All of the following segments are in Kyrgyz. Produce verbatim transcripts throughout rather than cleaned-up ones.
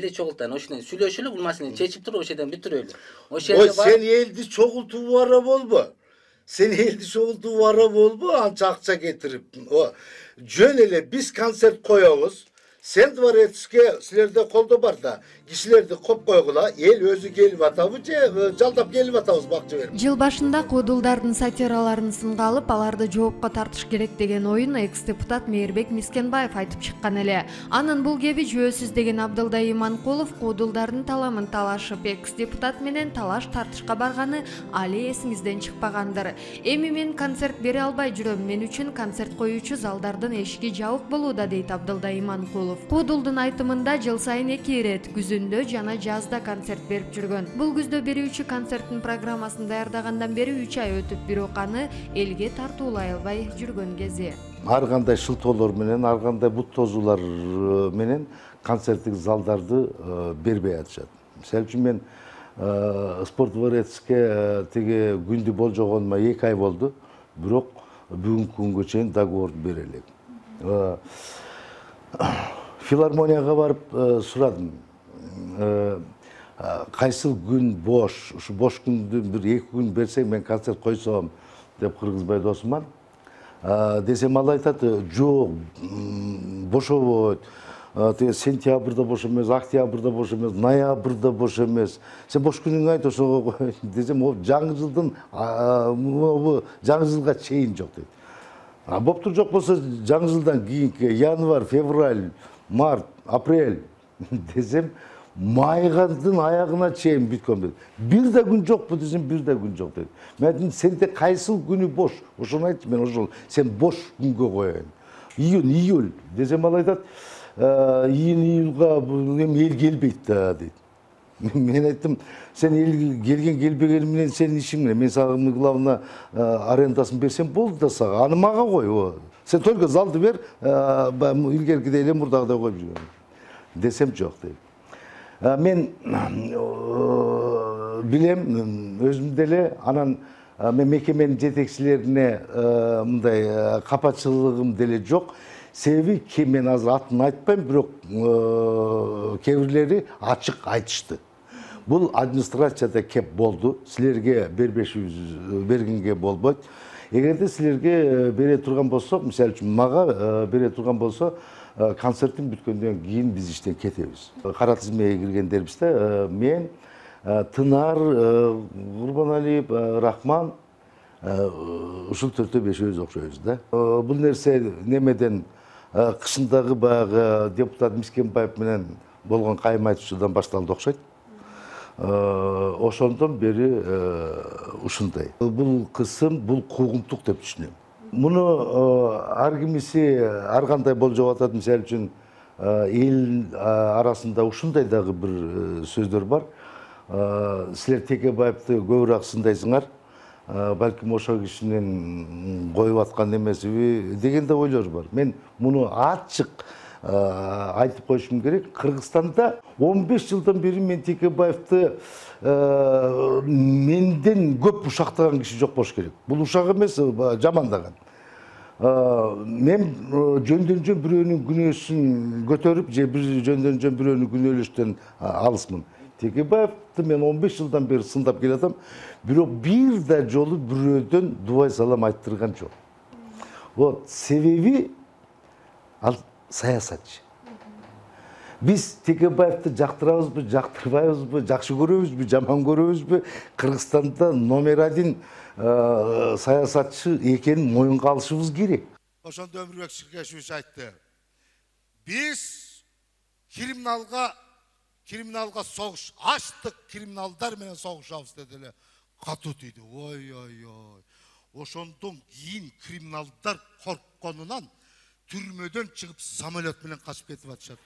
элди чогултайын, ошондой сүйлөшөлү, бул маселени чечип туруп ошол жерден бүтүрөлү. Ошол жерде бар. Сен элди чогултуу бара болбо. Сен элди чогултуу бара болбо, анча акча кетирип. Жөн эле биз концерт коебуз. Сен дворецке силерде колдо бар да, кишилерди коп койгула, эл өзү келип атабы же жалдап келип атабыз бакча берип. Жыл башында куудулдардын сатираларын сынга алып, аларды жоопко тартыш керек деген оюн экс-депутат Мээрбек Мискенбаев айтып чыккан эле. Анын бул кеби жөөсүз деген Абдылдай Иманкулов куудулдардын таламын талашып, экс-депутат менен талаш тартышка барганы али эсиңизден чыкпагандыр. Эми мен концерт бере албай жүрөм, мен үчүн концерт коюучу залдардын эшиги жабык болууда, дейт Абдылдай Иманкулов. Куудулдун айтымында жыл сайын эки ирет күзүндө жана жазда концерт берип жүргөн. Бул күздө берүүчү концерттин программасын даярдагандан бери үч ай өтүп, бирок аны элге тартуулай албай жүргөн кези. Ар кандай шылтоолор менен, ар кандай бут тозуулар менен концерттик залдарды бербей атышат. Мисалы үчүн мен спорт дворецке тиги күндү болжогонума эки ай болду, бирок бүгүнкү күнгө чейин договорду бере элек. Филармонияга барып сурадым. Кайсыл күн бош, ушу бош күндү бир эки күн берсең мен концерт койсом деп Кыргызбай досуман. Десем ал айтат, жок, бошобойт. Сентябрда бош эмес, октябрда бош эмес, ноябрда бош эмес. Сен бош күнүңдү айт, ошого кой. Десем, о жаңы жылдын жаңы жылга чейин жок дейт. А боптур, жок болсо жаңы жылдан кийинки январь, февраль, март, апрель десем, майгандын аягына чейин бүткөн дейт. Бир да күн жокпу десем, бир да күн жок дейт. Мен айттым, сенде кайсыл күнү бош? Ошону айтчы, мен ошол сен бош күнгө коеюн. Июнь, июль десем, ал айтат, июнь, июлга эми эл келбейт да дейт. Мен айттым, сен эл келген келбеген менен сенин ишиң эмне? Мен сага главный арендасын берсем болду да сага. Аны мага кой. Сен только залды бер, илгеркидей эле мурдагыдай коюп жүргөн. Десем жок дейт. Мен билем, өзүм деле анан мен мекеменин жетекчилерине мындай капачылыгым деле жок. Себеби мен азыр атын айтпайм, бирок кээ бирлери ачык айтышты. Бул администрацияда кеп болду, силерге бербешибиз бергенге болбойт. Эгерде силерге бере турган болсо, мисалы үчүн мага бере турган болсо, концерттин бүткөндөн кийин биз иштен кетебиз. Кара тизмеге киргендербиз да, мен, Тынар, Курбаналиев, Рахман, ушул төртөө бешөөбүз окшойбуз да. Бул нерсе немеден кышындагы баягы депутат Мискенбаев менен болгон кайым айтышуудан башталды окшойт. Ошондон бери ушундай. Бул кысым, бул куугунтук деп түшүнөм. Муну ар кимиси ар кандай болжоп атат. Мисалы үчүн эл арасында ушундай дагы бир сөздөр бар. Силер Текебаевди көбүрөөк сындайсыңар, балким ошол кишинин коюп аткан эмесиби деген да ойлор бар. Мен муну ачык айтып коюшум керек. Кыргызстанда он беш жылдан бери мен Текебаевди менден көп ушактаган киши жок болуш керек. Бул ушак эмес, жамандаган. Мен жөндөн жөн бирөөнүн күнөөсүн көтөрүп, же бир жөндөн жөн бирөөнү күнөөлөштөн алысмын. Текебаевди мен он беш жылдан бери сындап келатам, бирок бир да жолу бирөөдөн дубай салам айттырган жок. Вот себеби ал саясатчы. Биз Текебаевди жактырабызбы, жактырбайбызбы, жакшы көрөбүзбү, жаман көрөбүзбү, Кыргызстанда номер один саясатчы экенин моюнга алышыбыз керек. Ошондо Өмүрбек Ширкешевич айтты. Биз криминалга криминалга согуш, аштык криминалдар менен согушабыз деди эле. Катуу тийди. Ой ой ой. Ошондон кийин криминалдар коркконунан түрмөдөн чыгып самолет менен качып кетип атышат.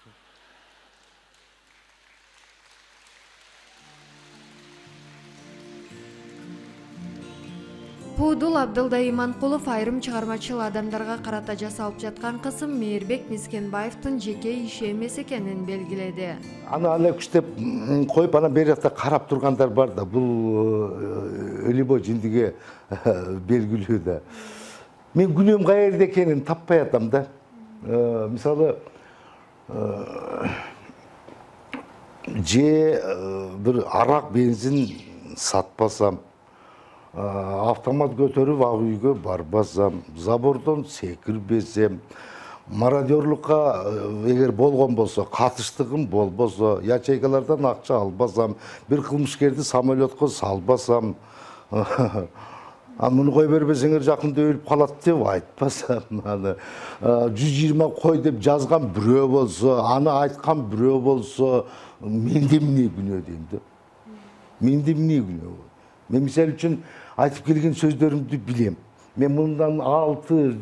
Куудул Абдылдай Иманкулов айрым чыгармачыл адамдарга карата жасалып жаткан кысым Мээрбек Мискенбаевдин жеке иши эмес экенин белгиледи. Аны ала күчтеп коюп, анан бери жакта карап тургандар бар да, бул өлүбой жиндиге белгилүү да. Мен күнөөм каерде экенин таппай атам да. Мисалы, же бир арак бензин сатпасам, автомат көтөрүп ак үйгө барбасам, забордон секирбесем, мародерлукка эгер болгон болсо, катыштыгым болбосо, ячейкалардан акча албасам, бир кылмышкерди самолетко салбасам, муну кой бербесеңер жакында өлүп калат деп айтпасам, аны жүз жыйырма кой деп жазган бирөө болсо, аны айткан бирөө болсо, менде эмне күнөө дейм да. Менде эмне күнөө? Мен мисалы үчүн айтып келген сөздөрүмдү билем. Мен мындан алты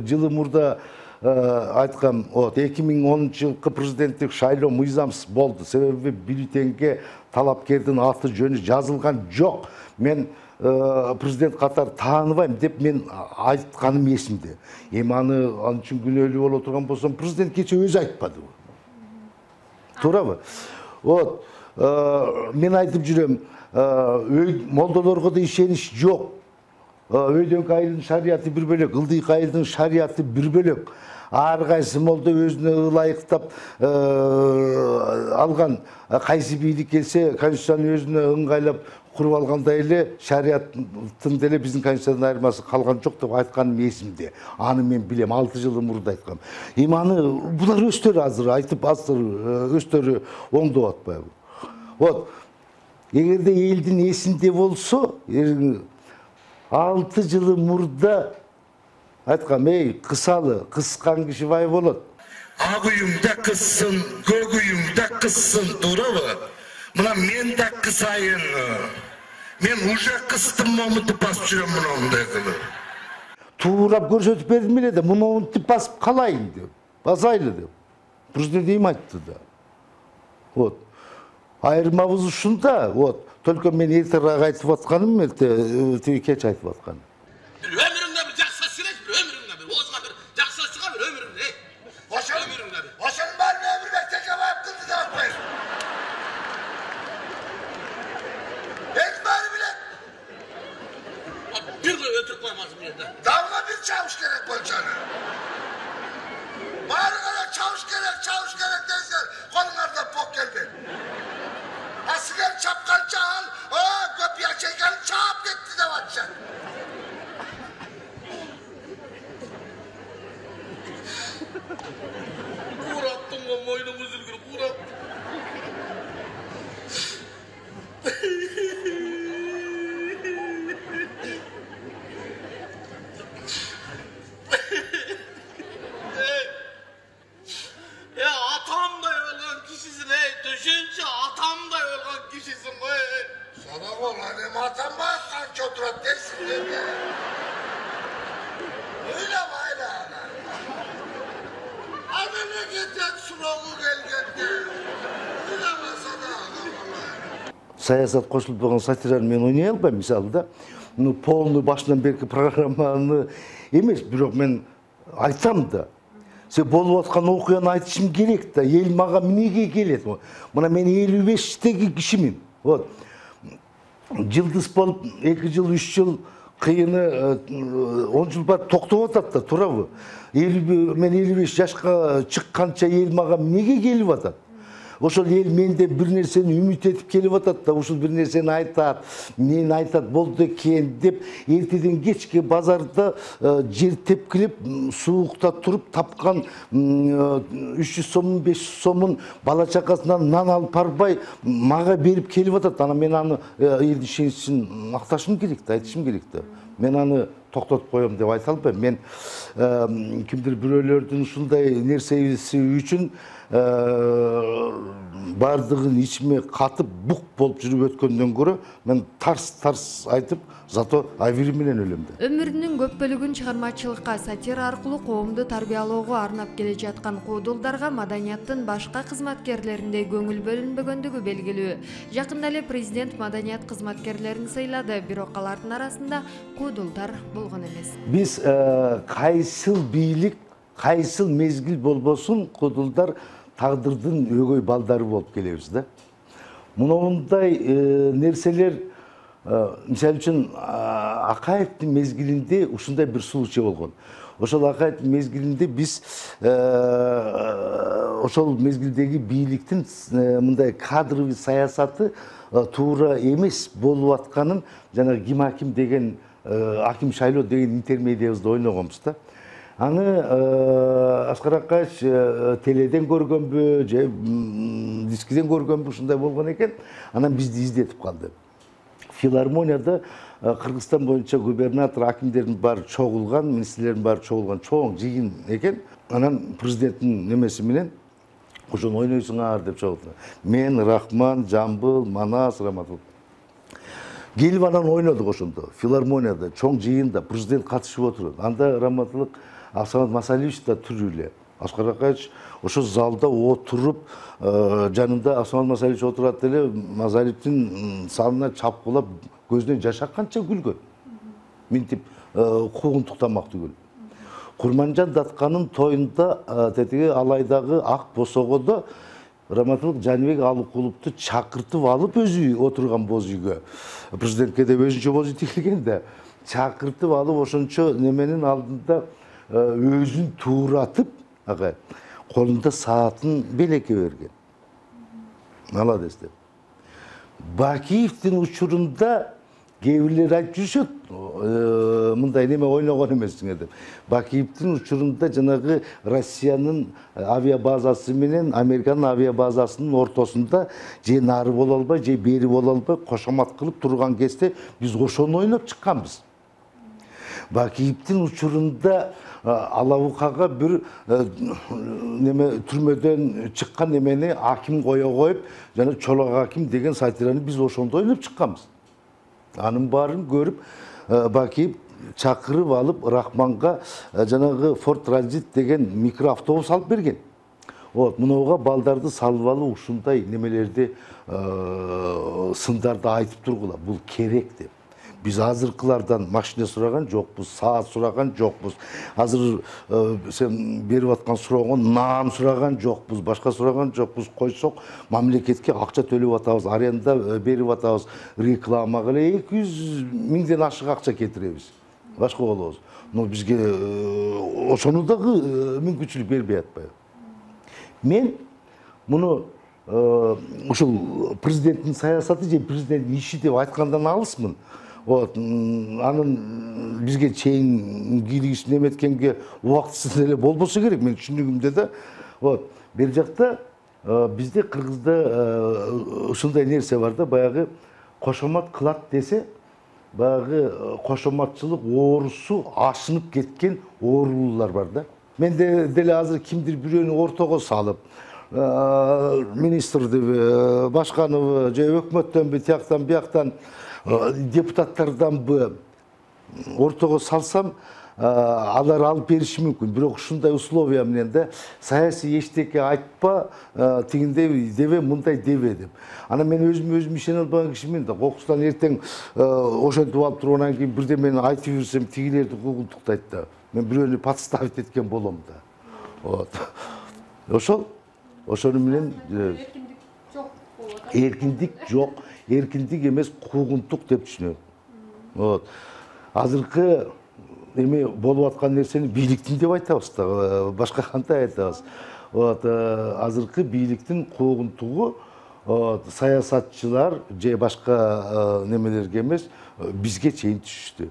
жыл мурда айткам, вот эки миң онунчу жылкы президенттик шайлоо мыйзамсыз болду. Себеби бюллетенге талапкердин аты жөнү жазылган жок. Мен президент катары тааныбайм деп мен айтканым эсимде. Эми аны ал үчүн күнөөлүү боло турган болсом, президент кече өзү айтпадыбы? Туурабы? Вот мен айтып жүрөм, молдолорго да ишенич жок. Өйдөнкү айылдын шарияты бир бөлөк, ылдыйкы айылдын шарияты бир бөлөк. Ар кайсы молдо өзүнө ылайыктап алган, кайсы бийлик келсе, конституцияны өзүнө ыңгайлап куруп алгандай эле шарияттын деле биздин конституциядан айырмасы калган жок деп айтканым эсимде. Аны мен билем, алты жыл мурда айткам. Эми аны булар өздөрү азыр айтып, азыр өздөрү оңдоп атпайбы? Вот, эгерде элдин эсинде болсо, алты жыл мурда айткам, эй, кысалы, кыскан киши бай болот. Ак үйүңдө кыссын, көк үйүңдө кыссын, туурабы? Мына мен да кысайын. Мен уже кыстым, момунтип басып жүрөм мындай кылып. Туурап көрсөтүп бердим эле да, мынтип басып калайын деп, басайлы деп. Президент эми айтты да. Вот. Айырмабыз ушунда, вот. Только мен эртерээк айтып атканым, эрте кеч айтып атканым. Өмүрүңдө бир жакшы сүрөт, өмүрүңдө бир озга бир жакшы чыга бир өмүрүңдө. Ошо өмүрүңдө бир. Ошонун баарын өмүрбек Текебаев кылды деп атпайсың. Эң баары билет. Бир өтүрүп коймасың жерде. Далга бир чабыш керек болчаны. Баары гана чабыш керек, чабыш керек дейсиңер, колуңарда пок келбек. Асыгер чапканча ал, көп ячейканы чаап кетти деп атышат. Кураттың го мойнуң үзүлгүр, курат. Ya atamday ölgөн kişisin ey, düşünce atamday ölgön kişisin ey. Sana olan hem atam var kanki oturat dersin dedi. Öyle mi öyle ana? Adını getir sunoğu gelgendi. Öyle mi sana ana? Саясат кошулбаган сатираны мен ойнай албайм, мисалы да. Ну полный башынан берки программаны эмес, бирок мен айтам да. Се болуп аткан окуяны айтышым керек да. Эл мага эмнеге келет? Мына мен элүү бештеги кишимин. Вот. Жылдыз болуп эки жыл, үч жыл кыйыны он жыл бар токтоп атат да, туурабы? Мен элүү беш жашка чыкканча эл мага эмнеге келип атат? Ошол эл менде бир нерсени үмүт этип келип атат да, ушул бир нерсени айтат, эмнени айтат болду экен деп, эртеден кечке базарда жер тепкилеп, суукта туруп тапкан үч жүз сомун, беш жүз сомун бала чакасынан нан алып барбай мага берип келип атат. Ана мен аны элдин ишеничин макташым керек да, айтышым керек да. Мен аны токтотуп коем деп айта албайм. Мен кимдир бирөөлөрдүн ушундай нерсеси үчүн бардыгын ичиме катып бук болуп жүрүп өткөндөн көрө мен тарс-тарс айтып, зато авири менен өлөм да. Өмүрүнүн көп бөлүгүн чыгармачылыкка, сатира аркылуу коомду тарбиялоого арнап келе жаткан Куудулдарга маданияттын башка кызматкерлериндей көңүл бөлүнбөгөндүгү белгилүү. Жакында эле президент маданият кызматкерлерин сыйлады, бирок алардын арасында Куудулдар болгон эмес. Биз кайсыл бийлик, кайсыл мезгил болбосун Куудулдар тагдырдын өгөй балдары болуп келебиз да. Мындай нерселер мисалы үчүн Акаевдин мезгилинде ушундай бир случай болгон. Ошол Акаевдин мезгилинде биз ошол мезгилдеги бийликтин мындай кадровый саясаты туура эмес болуп атканын жана ким аким деген аким шайлоо деген интермедиябызды ойногонбуз да. Аны Аскар Акаевич теледен көргөнбү же дискиден көргөнбү ушундай болгон экен. Анан бизди издетип калды. Филармонияда Кыргызстан боюнча губернатор, акимдердин баары чогулган, министрлердин баары чогулган чоң жыйын экен. Анан президенттин немеси менен ошону ойнойсуңар деп чогулду. Мен, Рахман, Жамбыл, Манас, Раматул. Келип анан ойнодук ошондо. Филармонияда чоң жыйында президент катышып отурат. Анда Раматулык Асамат Масалиевич да түр эле. Аскар Акаевич ошо залда отуруп, жанында Асамат Масалиевич отурат эле, Масалиевдин салына чапкылап көзүнөн жаш акканча күлгөн. Минтип куугунтук тамак түгүл. Курманжан Датканын тоюнда тетиги Алайдагы ак босогодо Раматулык Жаныбек Алыкуловду чакыртып алып өзү отурган боз үйгө. Президентке деп өзүнчө боз үй тигилген да. Чакыртып алып ошончо неменин алдында өзүн тууратып, ага, колунда саатын белекке берген. Молодец деп. Бакиевдин учурунда кээ бирлер айтып жүрүшөт, мындай неме ойногон эмессиңер деп. Бакиевдин учурунда жанагы Россиянын авиабазасы менен Американын авиабазасынын ортосунда же нары боло албай, же бери боло албай кошомат кылып турган кезде биз ошону ойноп чыкканбыз. Бакиевдин учурунда Алабукага бир неме түрмөдөн чыккан немени аким кое коюп, жана Чолок аким деген сатираны биз ошондо ойноп чыкканбыз. Анын баарын көрүп Бакиев чакырып алып Рахманга жанагы Ford Transit деген микроавтобус алып берген. Вот, мынауга балдарды салып алып ушундай немелерди сындарды айтып тургула. Бул керек деп. Биз азыркылардан машина сураган жокпуз, саат сураган жокпуз. Азыр сен берип аткан сурогон наан сураган жокпуз, башка сураган жокпуз. Койсок, мамлекетке акча төлөп атабыз, аренда берип атабыз, рекламага эле эки жүз миңден ашык акча кетиребиз. Башка болобуз. Но бизге ошону дагы мүмкүнчүлүк бербей атпайбы. Мен муну ушул президенттин саясаты же президенттин иши деп айткандан алысмын. Вот, анын бизге чейин кийлигишин эметкенге убактысы эле болбосо керек, мен түшүнүгүмдө да. Вот, бер жакта бизде Кыргызда ушундай нерсе бар да, баягы кошомат кылат десе, баягы кошоматчылык оорусу ашынып кеткен оорулуулар бар да. Мен деле азыр кимдир бирөөнү ортого салып, министрдиби, башканыбы, же өкмөттөнбү, тияктан бияктан депутаттарданбы ортого салсам, алар алып бериши мүмкүн. Бирок ушундай условия менен да саясий эчтеке айтпа, тигиндей дебе, мындай дебе деп. Анан мен өзүм өзүм ишене албаган кишимен да кокустан эртең ошентип алып тургандан кийин бирдемени айтып жүрсөм, тигилерди куугунтуктайт да. Мен бирөөнү подставить эткен болом да. Вот. Ошол ошону менен эркиндик жок, эркиндик эмес, куугунтук деп түшүнөм. Вот. Азыркы эме болуп аткан нерсени бийликтин деп айтабыз да, башка кандай айтабыз. Вот, азыркы бийликтин куугунтугу саясатчылар же башка немелерге эмес, бизге чейин түшүштү.